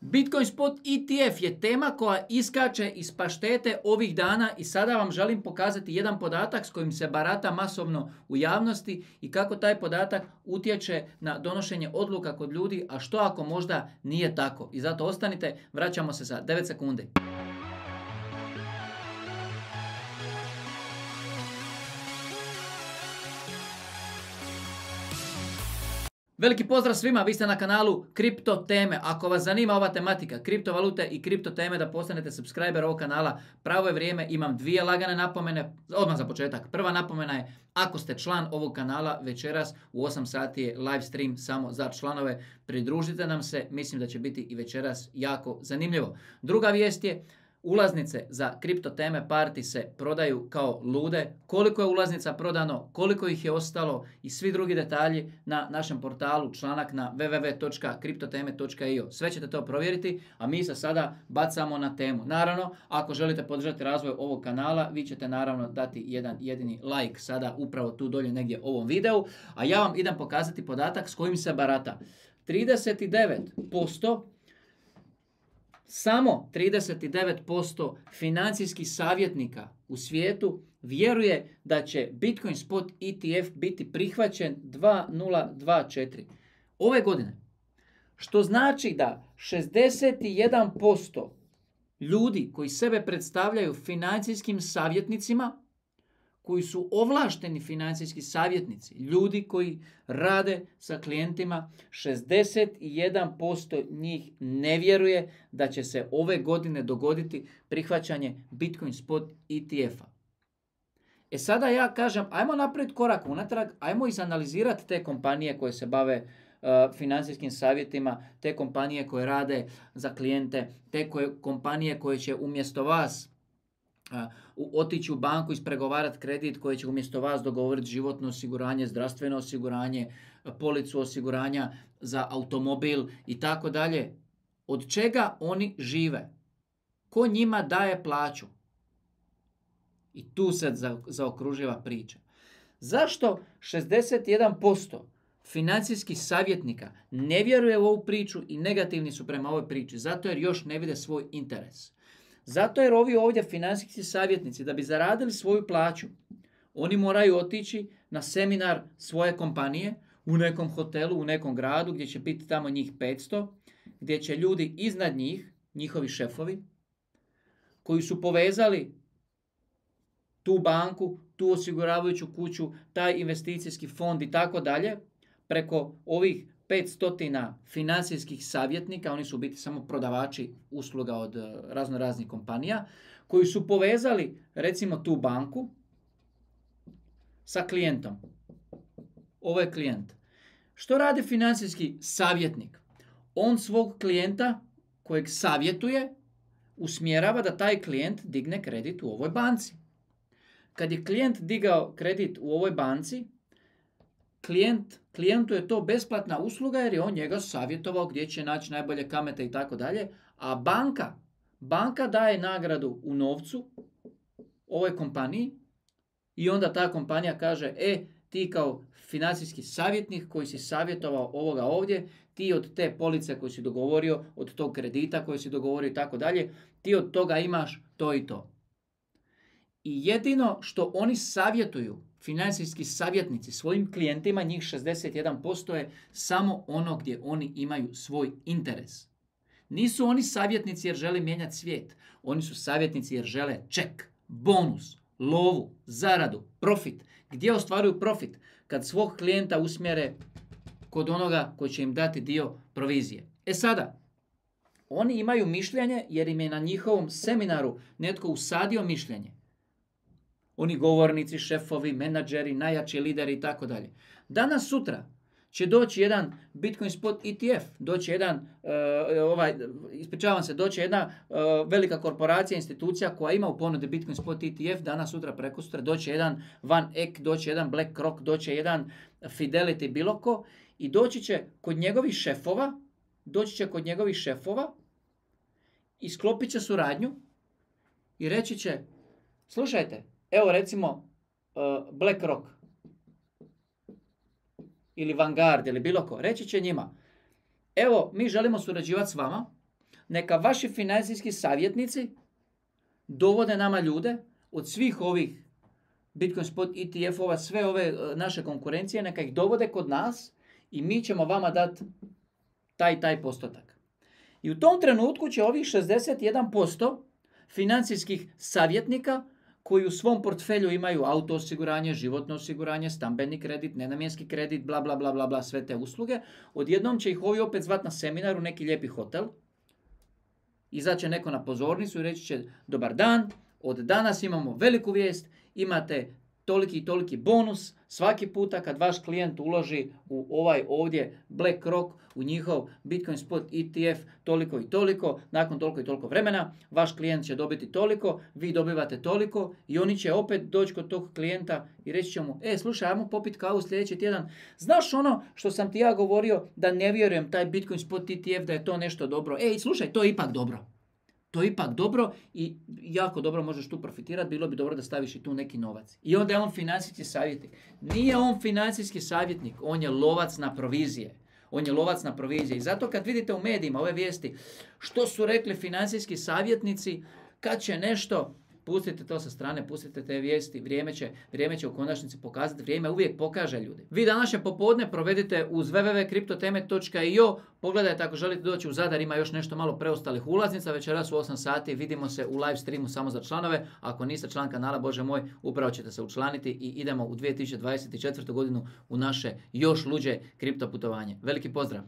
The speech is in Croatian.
Bitcoin Spot ETF je tema koja iskače iz paštete ovih dana i sada vam želim pokazati jedan podatak s kojim se barata masovno u javnosti i kako taj podatak utječe na donošenje odluka kod ljudi, a što ako možda nije tako. I zato ostanite, vraćamo se za 9 sekundi. Veliki pozdrav svima, vi ste na kanalu Kripto teme. Ako vas zanima ova tematika, kriptovalute i kripto teme, da postanete subscriber ovog kanala, pravo je vrijeme. Imam dvije lagane napomene, odmah za početak. Prva napomena je, ako ste član ovog kanala, večeras u 8 sati je live stream samo za članove. Pridružite nam se, mislim da će biti i večeras jako zanimljivo. Druga vijest je, ulaznice za kripto teme party se prodaju kao lude. Koliko je ulaznica prodano, koliko ih je ostalo i svi drugi detalji na našem portalu, članak na www.kriptoteme.io. Sve ćete to provjeriti, a mi se sada bacamo na temu. Naravno, ako želite podržati razvoj ovog kanala, vi ćete naravno dati jedan jedini like sada upravo tu dolje negdje ovom videu, a ja vam idem pokazati podatak s kojim se barata. 39%, samo 39% financijskih savjetnika u svijetu vjeruje da će Bitcoin Spot ETF biti prihvaćen 2024. ove godine. Što znači da 61% ljudi koji sebe predstavljaju financijskim savjetnicima, koji su ovlašteni financijski savjetnici, ljudi koji rade sa klijentima, 61% njih ne vjeruje da će se ove godine dogoditi prihvaćanje Bitcoin Spot ETF-a. Sada ja kažem, ajmo napraviti korak unatrag, ajmo izanalizirati te kompanije koje se bave financijskim savjetima, te kompanije koje rade za klijente, te kompanije koje će umjesto vas otići u banku, ispregovarati kredit, koji će umjesto vas dogovoriti životno osiguranje, zdravstveno osiguranje, policu osiguranja za automobil i tako dalje. Od čega oni žive? Ko njima daje plaću? I tu se zaokruživa priča. Zašto 61% financijskih savjetnika ne vjeruje u ovu priču i negativni su prema ovoj priči? Zato jer još ne vide svoj interes. Zato jer ovi ovdje financijski savjetnici, da bi zaradili svoju plaću, oni moraju otići na seminar svoje kompanije u nekom hotelu, u nekom gradu gdje će biti tamo njih 500, gdje će ljudi iznad njih, njihovi šefovi, koji su povezali tu banku, tu osiguravajuću kuću, taj investicijski fond i tako dalje, preko ovih 500 financijskih savjetnika, oni su u biti samo prodavači usluga od raznih kompanija, koji su povezali recimo tu banku sa klijentom. Ovo je klijent. Što radi financijski savjetnik? On svog klijenta kojeg savjetuje usmjerava da taj klijent digne kredit u ovoj banci. Kad je klijent digao kredit u ovoj banci, klijentu je to besplatna usluga jer je on njega savjetovao gdje će naći najbolje kamate i tako dalje, a banka daje nagradu u novcu ovoj kompaniji i onda ta kompanija kaže, ti kao financijski savjetnik koji si savjetovao ovoga ovdje, ti od te police koju si dogovorio, od tog kredita koji si dogovorio i tako dalje, ti od toga imaš to i to. I jedino što oni savjetuju, financijski savjetnici, svojim klijentima, njih 61% je samo ono gdje oni imaju svoj interes. Nisu oni savjetnici jer žele mijenjati svijet. Oni su savjetnici jer žele ček, bonus, lovu, zaradu, profit. Gdje ostvaruju profit? Kad svog klijenta usmjere kod onoga koji će im dati dio provizije. Sada, oni imaju mišljenje jer im je na njihovom seminaru netko usadio mišljenje. Oni govornici, šefovi, menadžeri, najjači lideri i tako dalje. Danas, sutra će doći jedan Bitcoin Spot ETF, doći jedna velika korporacija, institucija koja ima u ponudi Bitcoin Spot ETF, danas, sutra, prekosutra, doći jedan Van Eck, doći jedan BlackRock, doći jedan Fidelity, bilo ko, i doći će kod njegovih šefova i sklopit će suradnju i reći će, slušajte, evo recimo BlackRock ili Vanguard ili bilo ko, reći će njima, evo mi želimo surađivati s vama neka vaši financijski savjetnici dovode nama ljude od svih ovih Bitcoin spot ETF-ova, sve ove naše konkurencije, neka ih dovode kod nas i mi ćemo vama dati taj postotak. I u tom trenutku će ovih 61% financijskih savjetnika koji u svom portfelju imaju auto osiguranje, životno osiguranje, stambeni kredit, nenamjenski kredit, bla, bla, bla, bla, bla, sve te usluge, odjednom će ih ovi opet zvati na seminar u neki lijepi hotel. Izaće neko na pozornicu i reći će: dobar dan, od danas imamo veliku vijest, imate toliki i toliki bonus svaki puta kad vaš klijent uloži u ovaj ovdje BlackRock, u njihov Bitcoin spot ETF toliko i toliko, nakon toliko i toliko vremena, vaš klijent će dobiti toliko, vi dobivate toliko i oni će opet doći kod tog klijenta i reći će mu: slušaj, ajmo popit kavu sljedeći tjedan, znaš ono što sam ti ja govorio da ne vjerujem taj Bitcoin spot ETF da je to nešto dobro, slušaj, to je ipak dobro. To je ipak dobro i jako dobro možeš tu profitirati, bilo bi dobro da staviš i tu neki novac. I onda je on financijski savjetnik. Nije on financijski savjetnik, on je lovac na provizije. On je lovac na provizije. I zato kad vidite u medijima ove vijesti što su rekli financijski savjetnici, kad će nešto, pustite to sa strane, pustite te vijesti, vrijeme će u konačnici pokazati, vrijeme uvijek pokaže ljudi. Vi današnje popodne provedite uz www.kriptoteme.io, pogledajte ako želite doći u Zadar, ima još nešto malo preostalih ulaznica, večeras u 8 sati vidimo se u live streamu samo za članove, ako niste član kanala, Bože moj, upravo ćete se učlaniti i idemo u 2024. godinu u naše još luđe kripto putovanje. Veliki pozdrav!